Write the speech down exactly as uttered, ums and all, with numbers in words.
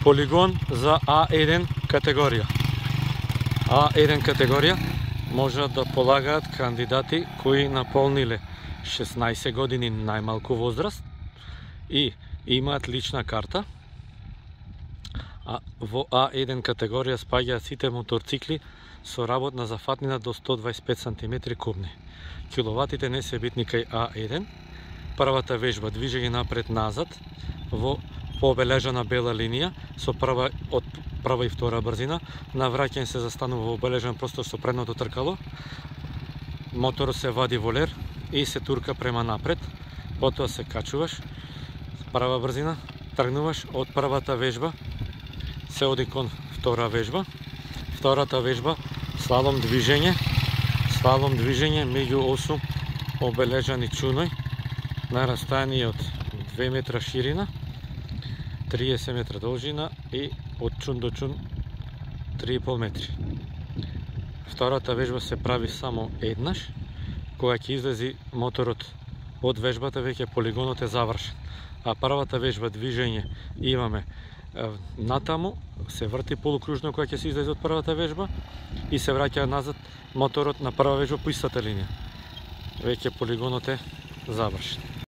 полигон за А еден категорија. А еден категорија можат да полагаат кандидати кои наполниле шеснаесет години најмалку возраст и имаат лична карта. А во А еден категорија спаѓаат сите моторцикли со работна зафатнина до сто дваесет и пет сантиметри кубни. Киловатите не се битни кај А еден. Првата вежба движење напред-назад во пообележана бела линија со прва од прва и втора брзина. На враќање се застанува во обележан простор со предното тркало. Моторот се вади во лер и се турка према напред. Потоа се качуваш, прва брзина, тргнуваш од првата вежба, се оди кон втора вежба. Втората вежба, слалом движење, слалом движење меѓу осум обележани чуној на растојание од две метра ширина, триесет метра должина и од чун до чун три и пол метри. Втората вежба се прави само еднаш, кога ќе излези моторот од вежбата, веќе полигонот е завршен. А првата вежба движење имаме натаму, се врти полукружно кога ќе се излезе од првата вежба и се враќа назад моторот на прва вежба по истата линија. Веќе полигонот е завршен.